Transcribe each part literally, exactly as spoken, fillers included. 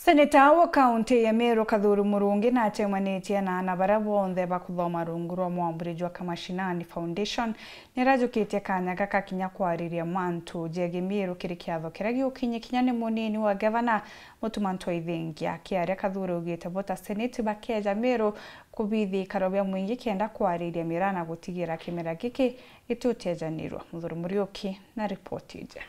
Seneta wa kaunti ya Meru Kathuri Murungi na acemanitie na aana baria bonthe bakuthoma rungu rwa mwamburi jwa Kamashinani Foundation, nirajukitie kanya gaka kinya kwariria mantu jegii Meru kiri kiatho kiria giukinyi kinya ni munini wa gavana Mutuma M'Ethingia. Akiaria, Kathuri augite bo ta seneti bakeja Meru kubithi ikaro bia mwingi kenda kwariria miraa na gutigira kimera giki gitiutejanirwa. Muthuri Muriuki na ripoti iji.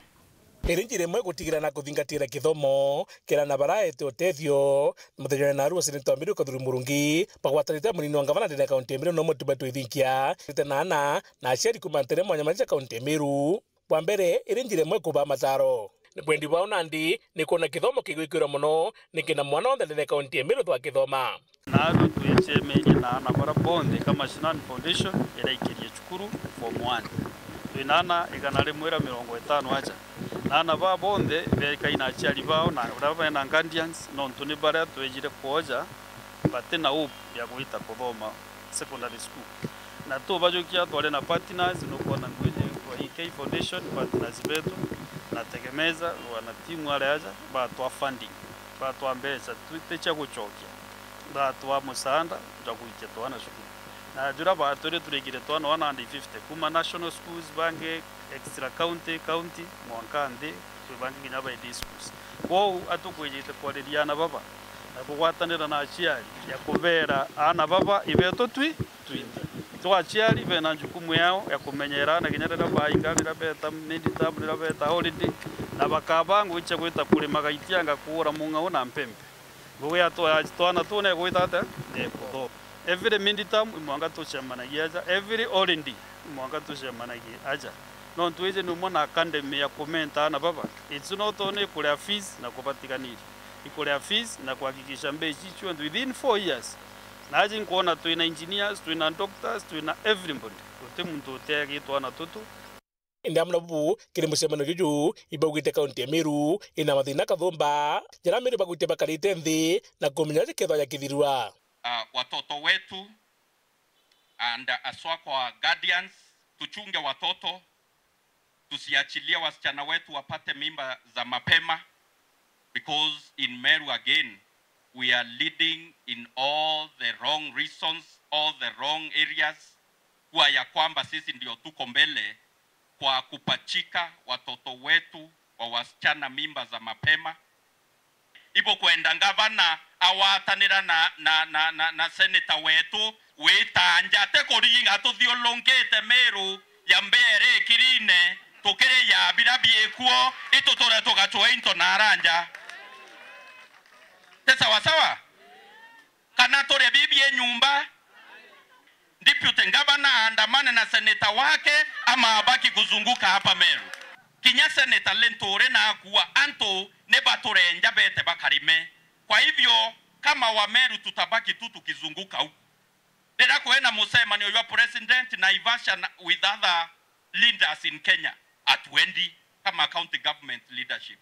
Iri njira imwe gutigira na kuthingatira kithomo kiri aana baraete utethio. Muthenya wa narua, seneta wa Meru Kathuri Murungi bagwatanite na munini wa ngavana ndene ya kaunti ya Meru no Mutuma M'Ethingia, ite na aana na aciari kuuma ntere mwanya mwanya cia kaunti ya Meru. Bwa mbere, iri njira imwe kubaa mataro. Ni bwendi bwao nandi ni kwona kithomo kigwikirwa mono, nikenda mwana wonthe ndene ya kaunti ya Meru ethwa akithoma. Naarua twicemenie na aana baria bonthe Kamashinani Foundation iria ikirie cukuru form one. Twina aana igana rimwe ria mirongo itano aja. Na aana baa bonthe bekai na aciari bao na uria bena guardians, nontu ni baria twejire kwoja batina hope ya gwita kuthoma secondary school. Na tubajukia twari na partners, nukwona ngwiji kwa E K Foundation, partners betu, na Tegemeza, wana timu aria aja, batwa funding, batwa mbeca, tu-, ti cia gucokia, batwa musaanda jwa gwikia twana cukuru. Na juria batwire turikire twana one hundred fifty, kuma national schools, bangi extra county, county, mwanka nthi, kwi bangi kinya ba day schools. Kwou atukwijite kwariria aana baba, na kugwatanira na aciari ya kubeera aana baba ibeetu twi twinthe. Twa aciari bena njukumu yao ya kumenyera aana kinya riria bainga, riria beeta mid term, riria beeta holiday, na bakabaa ngugi cia gwita kurima gaitianga kuura mung'au na mpembe. Ngugi ya twa-, twana tuu negwita atia? Nekuthoma. Every mid term imwanka tucemanagia aja, every holiday imwanka tucemanagia aja. Nontu iji ni umwe na academy ya kumenta aana baba. It's not only kuria fees na kubatigania. Ikuria fees na kuhakikisha mbeca icio cionthe within four years. Na aji nkwona twina engineers, twina doctors, twina everybody. Guti muntu uteagitwa na tutu. Indi amwe na bubu, kiri mucemanio juju, ibaugite kaunti ya Meru ina mathina kathumba, jaria Meru bagwite bakarite nthi na kumenya aja kethwa jakithirua. Ah, watoto wetu and aswa kwa guardians, tuchunge watoto, tusiachilie wasichana wetu wapate mimba za mapema, because in Meru again, we are leading in all the wrong reasons, all the wrong areas, kuwa ya kwamba sisi ndio tuko mbele kwa kupachika watoto wetu wa wasichana mimba za mapema. Ibukwenda ngavana awatanira na, na, na, na, na seneta wetu witanja, ti kuriinga tuthiurungite Meru ya mbere kirine, tukiri ya bira biikuo, ituture tugacua into na aranja. Ti sawa sawa? Kana turie bibi e nyumba? Deputy governor aandamane na seneta wake ama abaki kuzunguka hapa Meru? Kinya seneta Linturi na akua antu ni baturenja bete bakarime. Kwa hivyo, kama wa Meru tutabaki tu tukizunguka huku. Riria kwina mucemanio jwa president Naivasha na, with other leaders in Kenya, hatuendi kama county government leadership.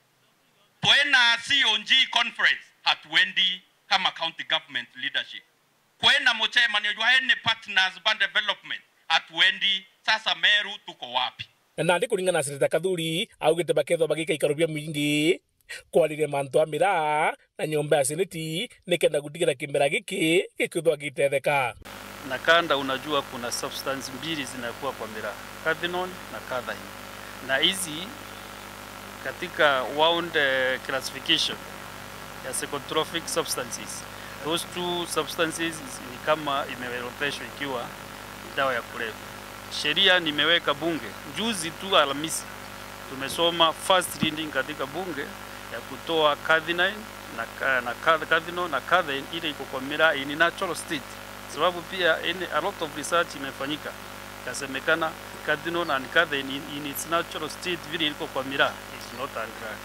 Twina C O G conference, hatuendi kama county government leadership. Kwina mucemanio jwa any partners ba development, hatuendi. Sasa Meru tuko wapi? Na nandi kuringana na Seneta Kathuri, augite bakethwa bagika ikaro bia mwingi kwariria mantu a miraa na nyomba ya seneti, nikenda gutigira kimera giki gikwithwa gitetheka. Nakanda, unajua kuna substance mbili zinakuwa kwa miraa, cathinone na cathain. Na hizi katika world, eh, classification ya psychotropic substances, those two substances ni kama imeorodheshwa ikiwa dawa ya kulevya. Sheria nimeweka bunge juzi tu Alhamisi, tumesoma first reading katika bunge ya kutoa cathinine na ca-, na ca-, cathinone na cathain ile iko kwa miraa in natural state, sababu pia in, a lot of research imefanyika, ikasemekana cathinone and cathain in, in its natural state vile iko kwa miraa is not a drug.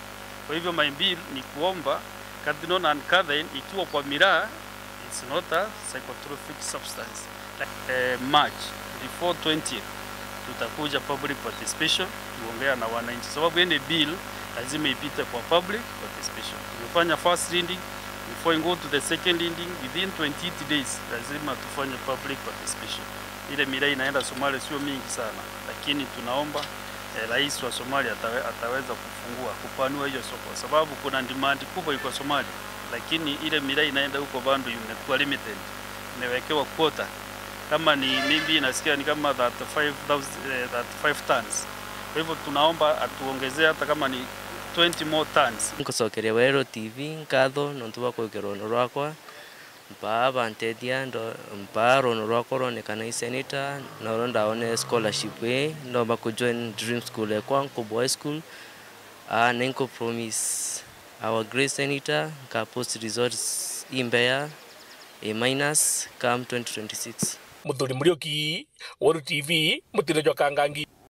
Kwa hivyo my bill ni kuomba cathinone and cathain ikiwa kwa miraa, it's not a psychotropic substance. Eh, March, before twentieth, tutakuja public participation, tuongea na wananchi. Sababu any bill lazima ipite kwa public participation. Tumefanya first reading, before you go to the second reading, within twenty-eight days, lazima tufanye public participation. Ile miraa inaenda Somalia sio mingi sana, lakini tunaomba, eh, rais wa Somalia atawe-, ataweza kufungua, kupanua hiyo soko, sababu kuna demand kubwa iko Somalia. Lakini ile miraa inaenda huko bado imekuwa limited, imewekewa quota. Kama ni maybe nasikia ni kama thirty-five thousand, eh, thirty-five tons. Kwa hivyo tunaomba atuongezee hata kama ni twenty more tons. Nkucokeria Weru T V nkatho nontu bwa kwikira rwono rwakwa, mpaa bantethia, ndo-, mpaa rwono rwakwa rwonekana i senator, na uria ndaone scholarship ii, ndomba ku join dream school ekwa Nkubu High School. Ah, na nku promise our great senator, nka post results imbea, A minus, come twenty twenty-six. Muthuri Muriuki, Weru T V, Mutino jwa Kangangi.